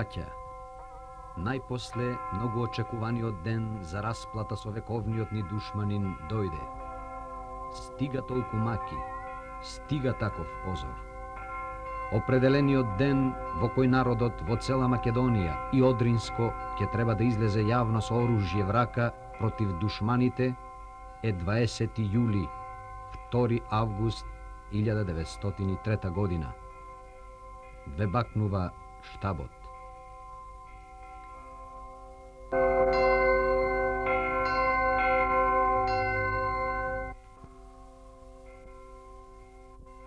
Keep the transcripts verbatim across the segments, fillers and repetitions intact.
Браќа, најпосле многу очекуваниот ден за расплата со вековниот ни душманин дојде. Стига толку маки, стига таков позор. Определениот ден во кој народот во цела Македонија и Одринско ќе треба да излезе јавно со оружје врака против душманите е дваесети јули, втори август илјада деветстотини и трета година. Ве бакнува штабот.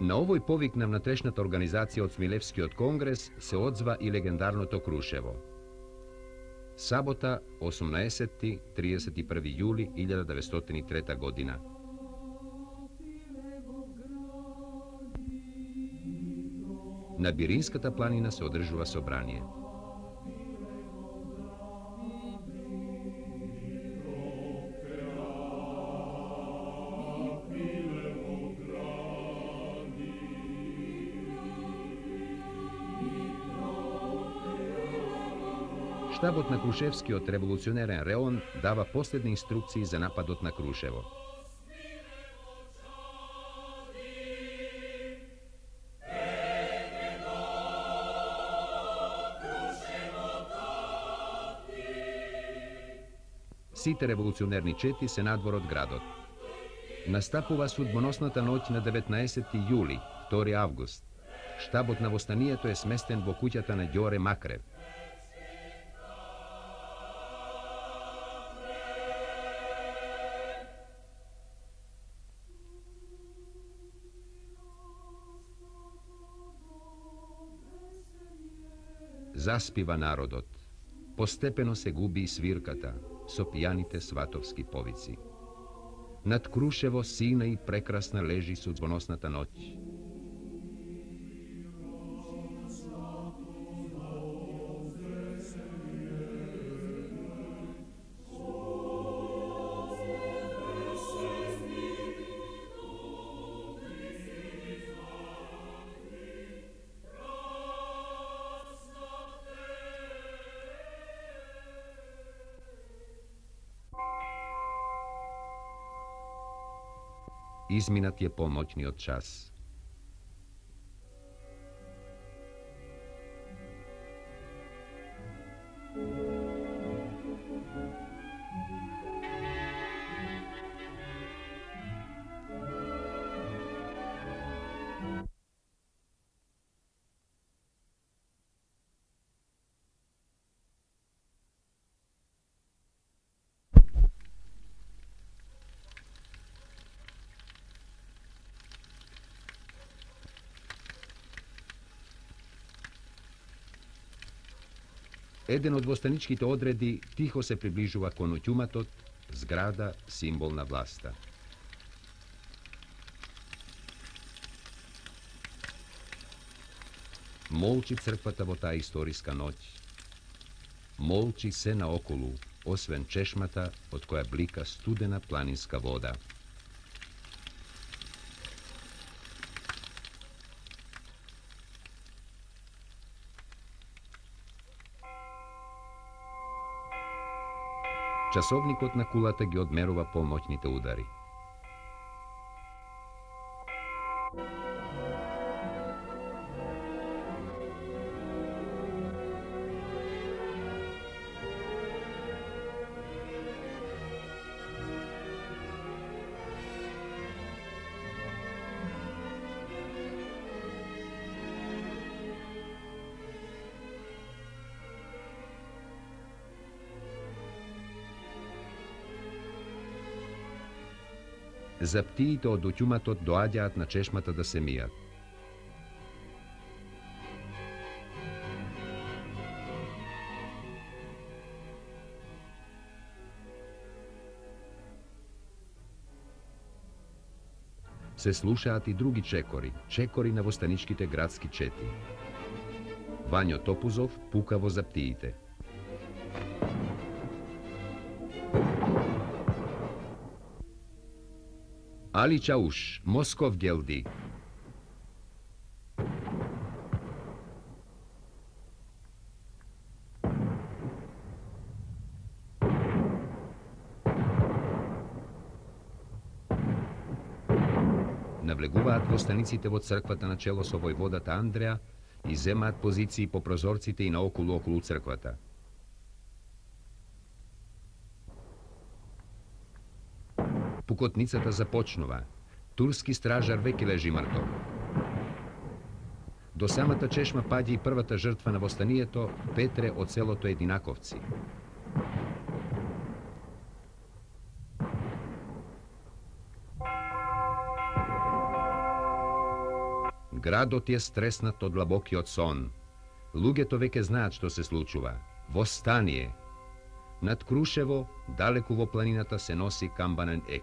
На овој повик на внатрешната организација од Смилевскиот конгрес се одзва и легендарното Крушево. Сабота, осумнаесети до триесет и први јули илјада деветстотини и трета година. На Биринската планина се одржува собрание. Штабот на Крушевскиот револуционерен реон дава последни инструкции за нападот на Крушево. Сите револуционерни чети се надвор од градот. Настапува судбоносната ноќ на деветнаесети јули, втори август. Штабот на востанието е сместен во куќата на Ѓоре Макрев. Заспива народот. Постепено се губи и свирката со пијаните сватовски повици. Над Крушево сина и прекрасна лежи судбоносната ноќ. Изминат е помоќниот час. Еден од востаничките одреди тихо се приближува кон оќуматот, зграда символ на власта. Молчи црквата во таа историска ноќ. Молчи се наоколу, освен чешмата од која блика студена планинска вода. Часовникот на кулата ги одмерува помоќните удари. Заптиите од оќуматот доаѓаат на чешмата да се мијат. Се слушаат и други чекори, чекори на востаничките градски чети. Вањо Топузов пука во заптиите. Али Чауш, Москов гелди. навлегуваат во станиците во црквата на чело со војводата Андреа и земаат позиции по прозорците и наоколу околу црквата. Пукотницата започнува. Турски стражар веќе лежи мртов. До самата чешма паѓа и првата жртва на востанието, Петре од селото Единаковци. Градот е стреснат од длабокиот сон. Луѓето веќе знаат што се случува. Востание. Над Крушево, далеку во планината, се носи камбанен ек.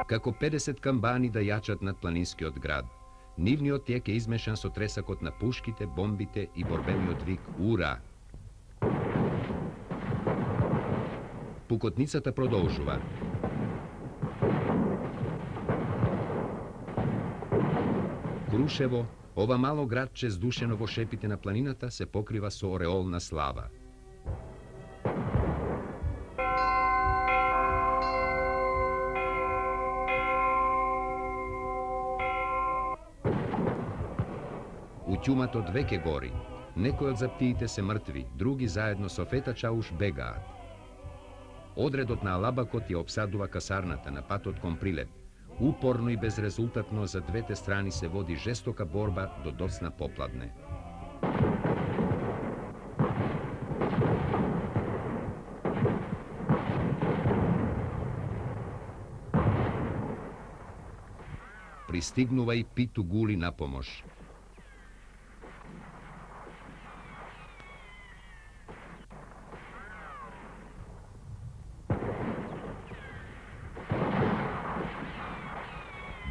Како педесет камбани да јачат над планинскиот град. Нивниот ек е измешан со тресакот на пушките, бомбите и борбениот вик «Ура!». Пукотницата продолжува. Крушево, ова мало градче здушено во шепите на планината, се покрива со ореол на слава. Утјуматот веќе гори. Некои од заптиите се мртви, други заедно со Фета Чауш бегаат. Одредот на Алабакот ја обсадува касарната на патот кон Прилеп. Упорно и безрезултатно за двете страни се води жестока борба до доцна попладне. Пристигнува и Питу Гули на помош.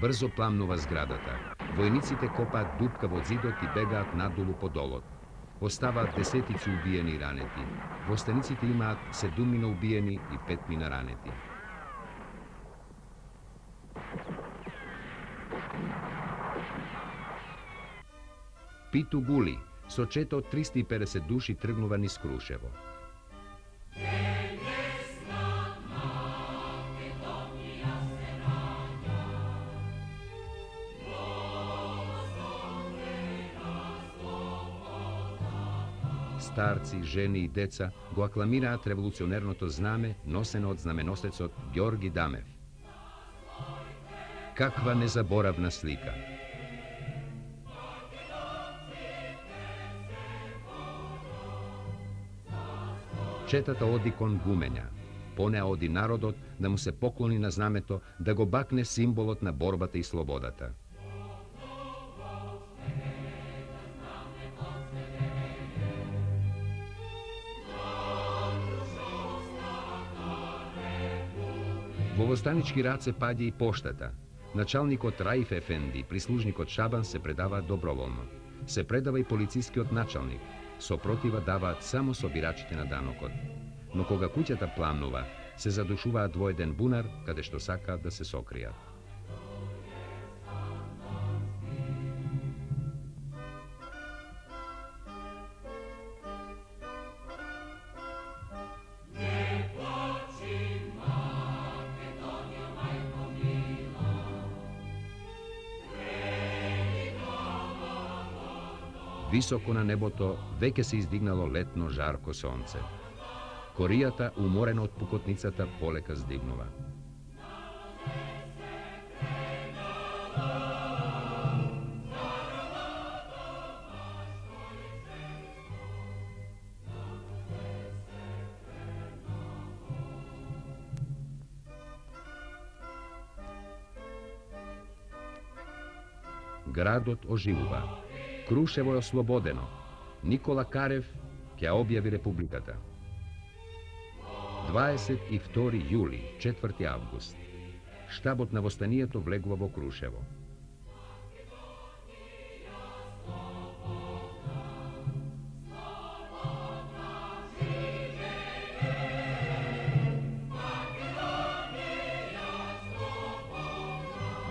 Брзо пламнува зградата. Војниците копаат дупка во зидот и бегаат надолу по долот. Оставаат десетици убиени и ранети. Во станиците имаат седумина убиени и петмина ранети. Питу Гули со чета од триста и педесет души тргнува низ Крушево. Старци, жени и деца го акламираат револуционерното знаме, носено од знаменосецот Ѓорги Дамев. Каква незаборавна слика! Четата оди кон Гуменја. По неа оди народот да му се поклони на знамето, да го бакне символот на борбата и слободата. Во востанички раце паѓа и поштата. Началникот Раиф Ефенди и прислужникот Шабан се предаваат доброволно. Се предава и полицискиот началник. Сопротива даваат само собирачите на данокот. Но кога куќата пламнува, се задушуваат во еден бунар, каде што сакаат да се сокријат. Високо на небото веќе се издигнало летно жарко сонце. Коријата, уморена од пукотницата, полека здигнува. Градот оживува. Крушево е ослободено. Никола Карев ќе објави републиката. дваесет и втори јули, четврти август. Штабот на востанието влегува во Крушево.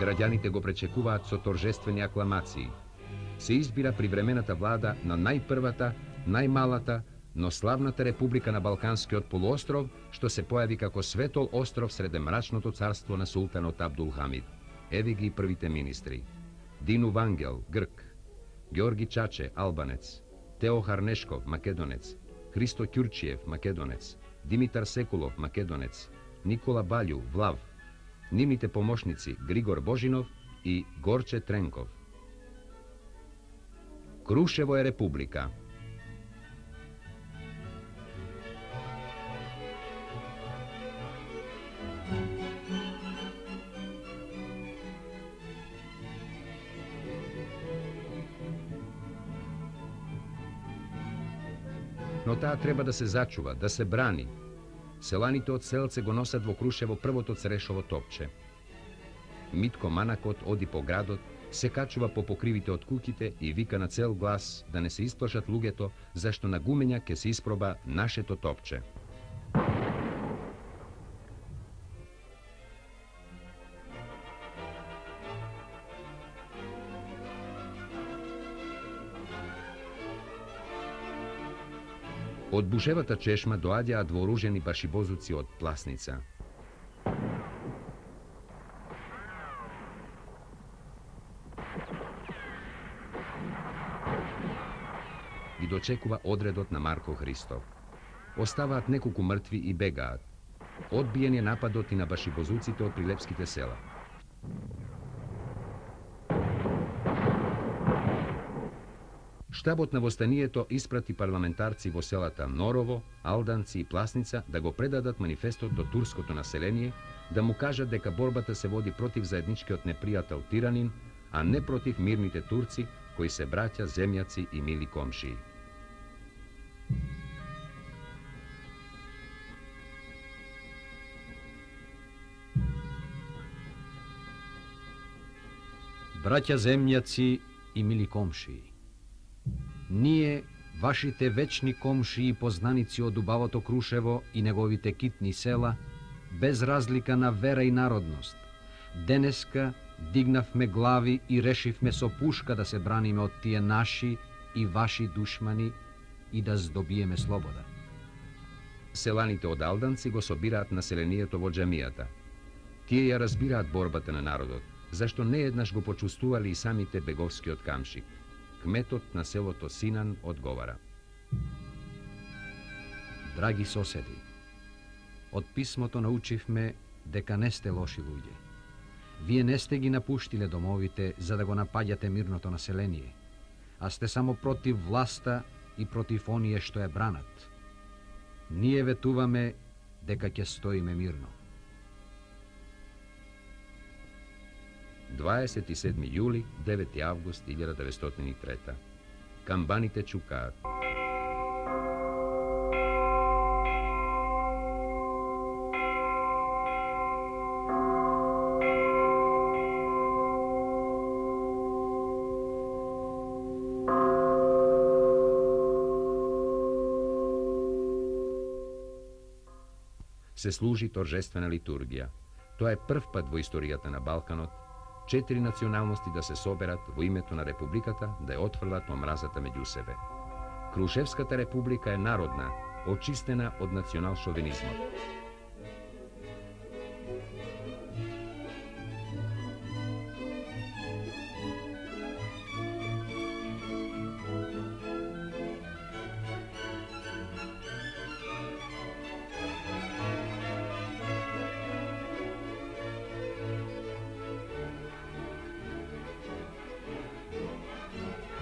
Граѓаните го пречекуваат со торжествени акламации. се избира привремената влада на најпрвата, најмалата, но славната република на Балканскиот полуостров, што се појави како светол остров среде мрачното царство на султанот Абдул Хамид. Еви ги првите министри. Дину Вангел, грк, Георги Чаче, албанец, Тео Харнешков, македонец, Христо Ќурчиев, македонец, Димитар Секулов, македонец, Никола Балју, влав, нивните помошници Григор Божинов и Горче Тренков. Крушево е република. Но таа треба да се зачува, да се брани. Селаните од Селце го носат во Крушево првото црешово топче. Митко Манакот оди по градот, се качува по покривите од куќите и вика на цел глас да не се исплашат луѓето, зашто на гумења ќе се испроба нашето топче. Од бушевата чешма доаѓаат вооружени башибозуци од Пласница. Ги дочекува одредот на Марко Христов. Оставаат неколку мртви и бегаат. Одбиен е нападот и на башибозуците од прилепските села. Штабот на востанието испрати парламентарци во селата Норово, Алданци и Пласница да го предадат манифестот до турското население, да му кажат дека борбата се води против заедничкиот непријател тиранин, а не против мирните турци, кои се браќа, земјаци и мили комшии. Браќа, земјаци и мили комшии, ние, вашите вечни комшии и познаници од убавото Крушево и неговите китни села, без разлика на вера и народност, денеска дигнавме глави и решивме со пушка да се браниме од тие наши и ваши душмани и да здобиеме слобода. Селаните од Алданци го собираат населението во џамијата. Тие ја разбираат борбата на народот, зашто не еднаш го почувствували и самите беговскиот камшик. Кметот на селото Синан одговара. Драги соседи, од писмото научивме дека не сте лоши луѓе. Вие не сте ги напуштиле домовите за да го напаѓате мирното население, а сте само против власта и против оние што ја бранат. Ние ветуваме дека ќе стоиме мирно. дваесет и седми јули, девети август илјада деветстотини и трета. Камбаните чукаат. Се служи торжествена литургија. Тоа е прв пат во историјата на Балканот четири националности да се соберат во името на републиката да ја отфрлат омразата меѓу себе. Крушевската република е народна, очистена од национал шовинизмот.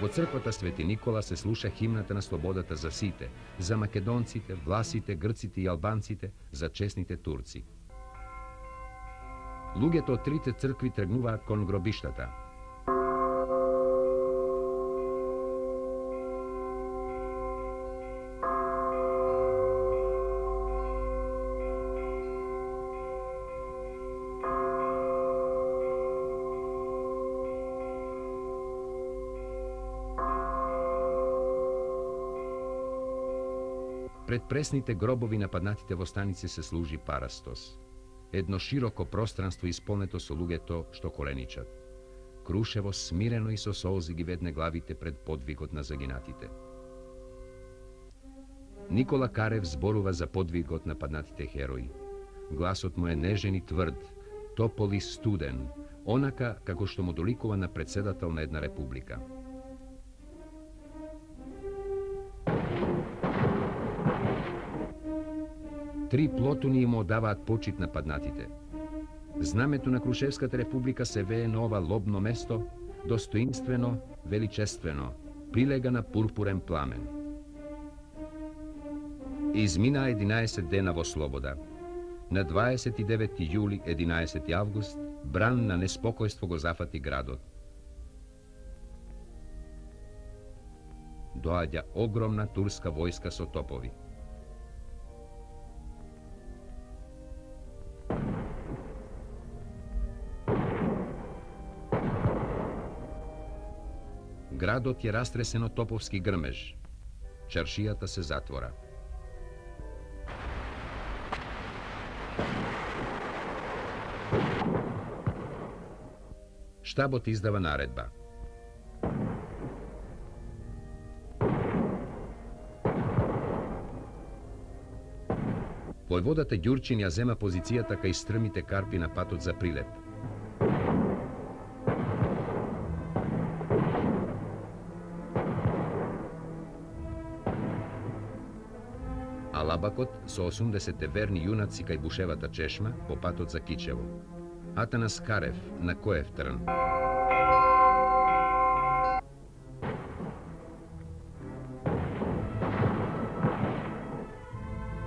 Во црквата Свети Никола се слуша химната на слободата за сите, за македонците, власите, грците и албанците, за честните турци. Луѓето од трите цркви тргнуваат кон гробиштата. Пред пресните гробови на паднатите востаници се служи парастос. Едно широко пространство исполнето со луѓето што коленичат. Крушево смирено и со солзи ги ведне главите пред подвигот на загинатите. Никола Карев зборува за подвигот на паднатите херои. Гласот му е нежен и тврд, топол и студен, онака како што му доликува на председател на една република. Три плотуни им одаваат почит на паднатите. Знамето на Крушевската република се вее на ова лобно место, достоинствено, величествено, прилега на пурпурен пламен. Измина единаесет дена во слобода. На дваесет и девети јули, единаесети август, бран на неспокојство го зафати градот. Доаѓа огромна турска војска со топови. Градот е растресен од топовски грмеж. Чаршијата се затвора. Штабот издава наредба. Војводата Ѓурчин ја зема позицијата кај стрмите карпи на патот за Прилеп. Алабакот со осумдесет верни јунаци кај бушевата чешма по патот за Кичево. Атанас Карев на Коев трн.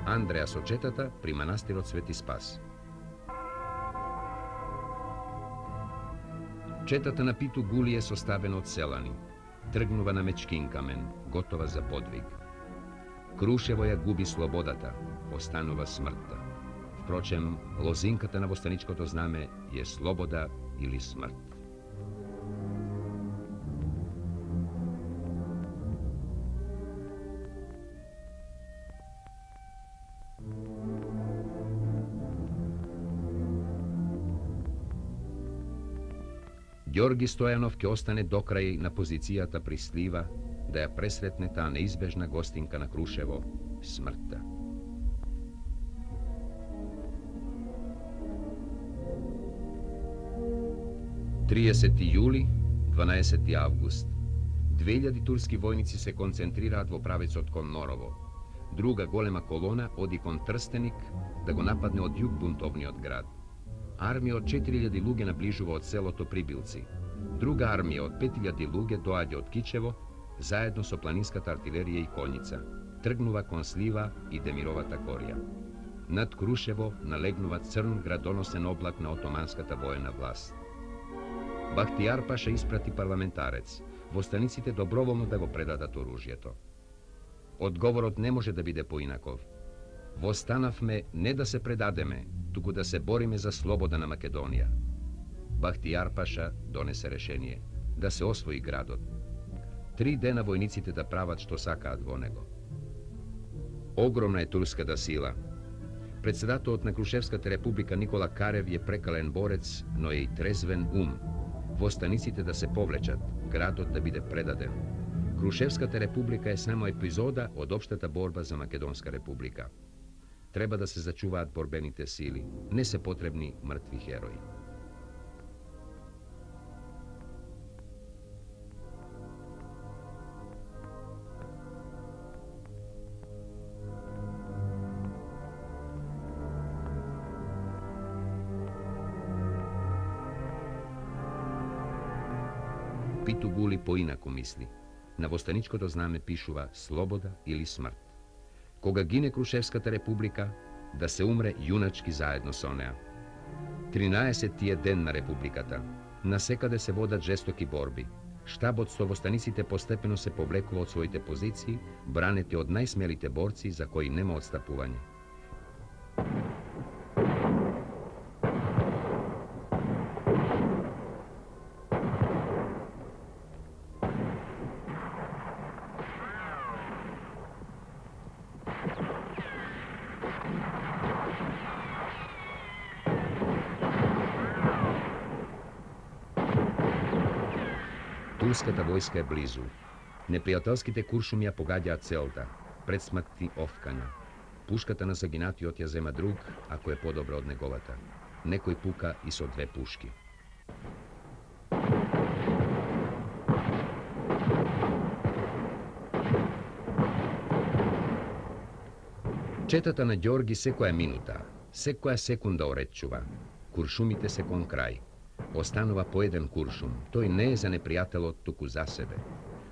Андреа со четата при манастирот Свети Спас. Четата на Питу Гули е составена од селани. Тргнува на Мечкин камен, готова за подвиг. Крушево ја губи слободата, останува смртта. Впрочем, лозинката на востаничкото знаме е слобода или смрт. Ѓорги Стојанов ќе остане докрај на позицијата при Слива, да ја пресретне таа неизбежна гостинка на Крушево, смртта. триесети јули, дванаесети август. две илјади турски војници се концентрираат во правецот кон Норово. Друга голема колона оди кон Трстеник да го нападне од југ бунтовниот град. Армија од четири илјади луѓе наближува од селото Прибилци. Друга армија од пет илјади луѓе доаѓа од Кичево, заедно со планинската артилерија и конјица. Тргнува кон Слива и Демировата корија. Над Крушево налегнува црн градоносен облак на отоманската воена власт. Бахтијар Паша испрати парламентарец, востаниците доброволно да го предадат оружјето. Одговорот не може да биде поинаков. Востанавме не да се предадеме, туку да се бориме за слобода на Македонија. Бахтијар Паша донесе решение да се освои градот. Три дена војниците да прават што сакаат во него. Огромна е турската сила. Председателот на Крушевската република Никола Карев е прекален борец, но е и трезвен ум. Востаниците да се повлечат, градот да биде предаден. Крушевската република е само епизода од општата борба за Македонска република. Треба да се зачуваат борбените сили, не се потребни мртви херои. Питу Гули поинаку мисли. На востаничкото знаме пишува слобода или смрт. Кога гине Крушевската република, да се умре јуначки заедно со неа. тринаесети е ден на републиката. Насекаде се водат жестоки борби. Штабот со востаниците постепено се повлекува од своите позиции, бранети од најсмелите борци за кои нема отстапување. Турската војска е близу. Непријателските куршуми ја погаѓаат целта, предсмртни овкања. Пушката на загинатиот ја зема друг, ако е подобра од неговата. Некој пука и со две пушки. Четата на Ѓорги секоја минута, секоја секунда оречува. Куршумите се кон крај. Останува по еден куршум. Тој не е за непријателот, туку за себе.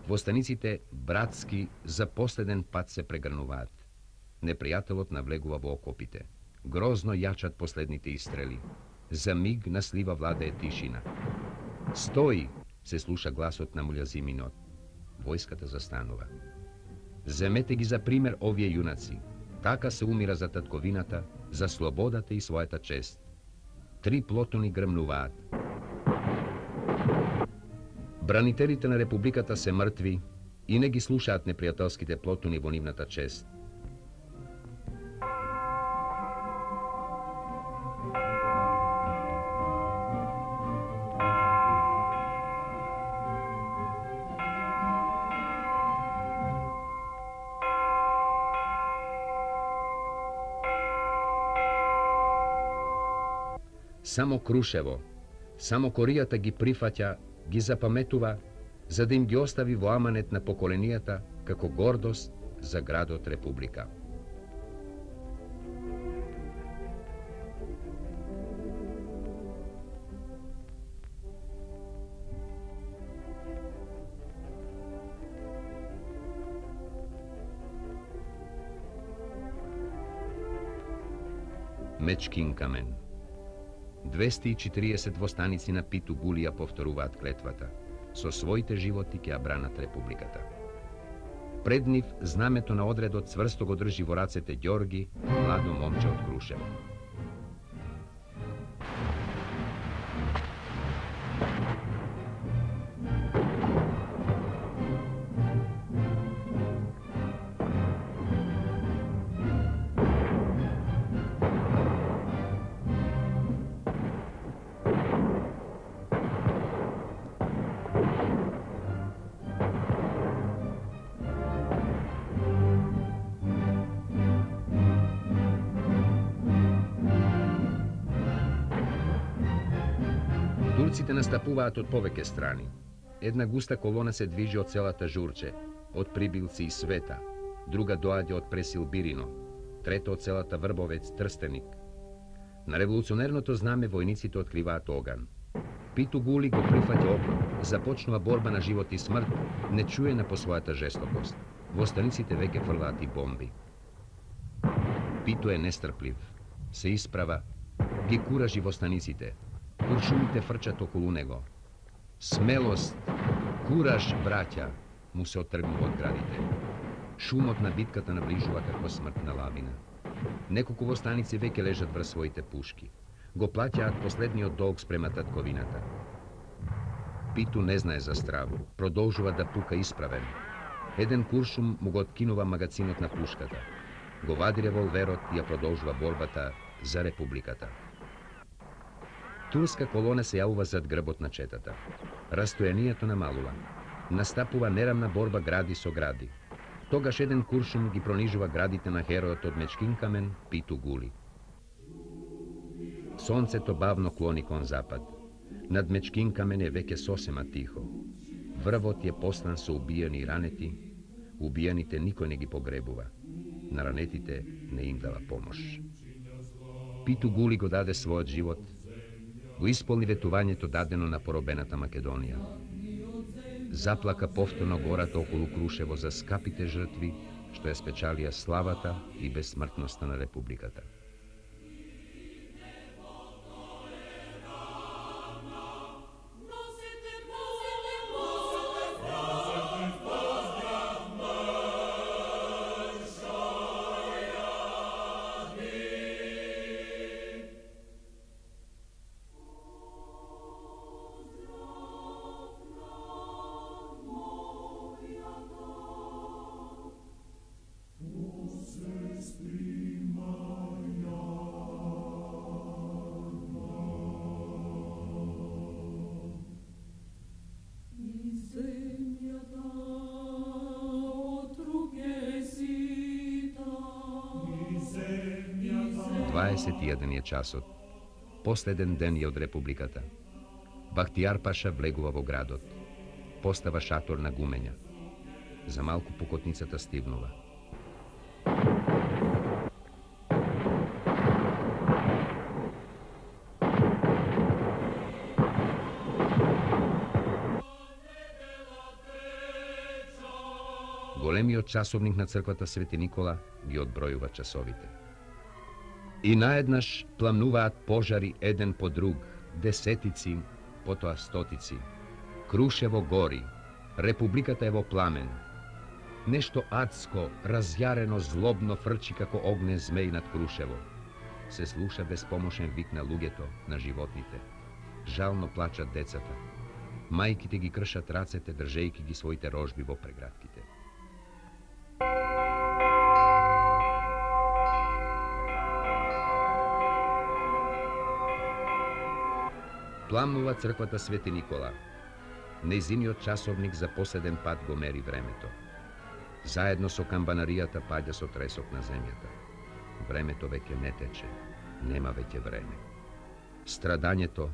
Востаниците братски за последен пат се прегрнуваат. Непријателот навлегува во окопите. Грозно јачат последните истрели. За миг на слива владее тишина. Стои, се слуша гласот на Мулјазиминот. Војската застанува. Земете ги за пример овие јунаци. Така се умира за татковината, за слободата и својата чест. Три плотони грмнуваат. Бранителите на Републиката се мртви и не ги слушаат непријателските плотони во нивната чест. Само Крушево, само Коријата ги прифаќа, ги запаметува, за да им ги остави во аманет на поколенијата како гордост за градот Република. Мечкин камен. двесте и четириесет востаници на Питу Гули ја повторуваат клетвата. Со своите животи ќе ја бранат Републиката. Пред нив знамето на одредот цврсто го држи во рацете Ѓорги, младо момче од Крушево. Турците настапуваат од повеќе страни. Една густа колона се движи од селата Журче, од Прибилци и Света, друга доаѓа од Пресил Бирино, трета од селата Врбовец Трстеник. На револуционерното знаме војниците откриваат оган. Питу Гули го прифаќа окоп, започнува борба на живот и смрт, не чуена по својата жестокост. Востаниците веќе фрлаат и бомби. Питу е нестрплив, се исправа, ги куражи востаниците. Куршумите фрчат околу него. Смелост, кураж, браќа, му се оттргнува од градите. Шумот на битката наближува како смртна лавина. Неколку востаници веќе лежат врз своите пушки. Го плаќаат последниот долг спрема татковината. Питу не знае за страву, продолжува да пука исправен. Еден куршум му го откинува магацинот на пушката. Го вади револверот и ја продолжува борбата за Републиката. Турска колона се јавува зад грбот на четата. Растојанието намалува. Настапува нерамна борба гради со гради. Тогаш еден куршум ги пронижува градите на херојот од Мечкин камен, Питу Гули. Сонцето бавно клони кон запад. Над Мечкин камен е веќе сосема тихо. Врвот е послан со убиени и ранети. Убиените никој не ги погребува. На ранетите не им дава помош. Питу Гули го даде својот живот, го исполни ветувањето дадено на поробената Македонија. Заплака повторно гората околу Крушево за скапите жртви, што ја спечалија славата и безсмртноста на Републиката. Prima дваесет и еден е часот. Последен ден е од Републиката. Бахтијар Паша влегува во градот. Постава шатор на гумења. За малку пукотницата стивнува. Големиот часовник на црквата Свети Никола ги одбројува часовите. И наеднаш пламнуваат пожари еден по друг, десетици, потоа стотици. Крушево гори, Републиката е во пламен. Нешто адско, разјарено, злобно фрчи како огнен змеј над Крушево. Се слуша безпомошен вик на луѓето, на животните. Жално плачат децата. Мајките ги кршат рацете, држејки ги своите рожби во прегратките. Пламнува црквата Свети Никола. Нејзиниот часовник за последен пат го мери времето. Заедно со камбанаријата паѓа со тресок на земјата. Времето веќе не тече, нема веќе време. Страдањето,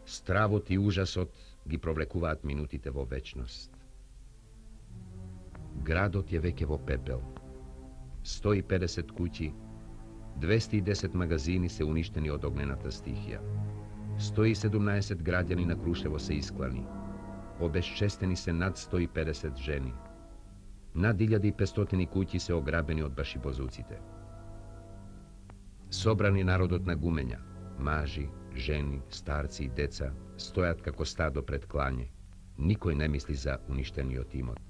стравот и ужасот ги провлекуваат минутите во вечност. Градот е веќе во пепел. сто и педесет куќи, двесте и десет магазини се уништени од огнената стихија. сто и седумнаесет граѓани на Крушево се исклани. Обезчестени се над сто и педесет жени. Над илјада и петстотини куќи се ограбени од башибозуците. Собрани народот на гумења, мажи, жени, старци и деца, стојат како стадо пред клање. Никој не мисли за уништениот имот.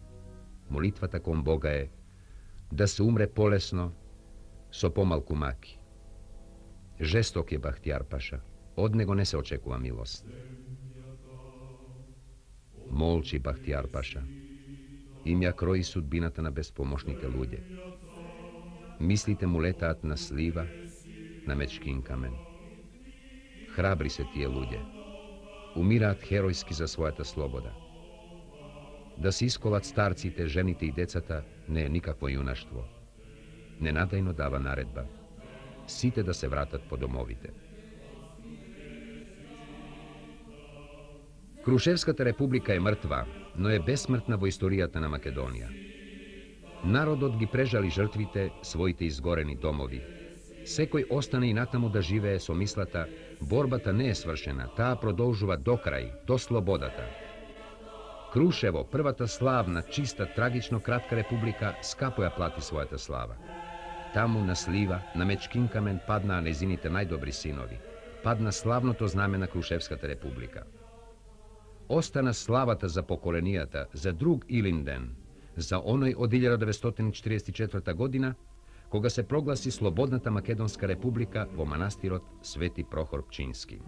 Молитвата кон Бога е да се умре полесно, со помалку маки. Жесток е Бахтијар Паша. Од него не се очекува милост. Молчи Бахтијар Паша. Им ја крои судбината на безпомошните луѓе. Мислите му летаат на слива, на мечкин камен. Храбри се тие луѓе. Умираат херојски за својата слобода. Да се исколат старците, жените и децата не е никакво јунаштво. Ненадејно дава наредба. Сите да се вратат по домовите. Крушевската република е мртва, но е бесмртна во историјата на Македонија. Народот ги прежали жртвите, своите изгорени домови. Секој остане и натаму да живее со мислата, борбата не е свршена, таа продолжува до крај, до слободата. Крушево, првата славна, чиста, трагично кратка република, скапо ја плати својата слава. Таму на слива, на мечкин камен паднаа незините најдобри синови. Падна славното знаме на Крушевската република. Остана славата за поколенијата, за друг Илинден, за оној од илјада деветстотини четиридесет и четврта година, кога се прогласи Слободната Македонска република во манастирот Свети Прохор Пчински.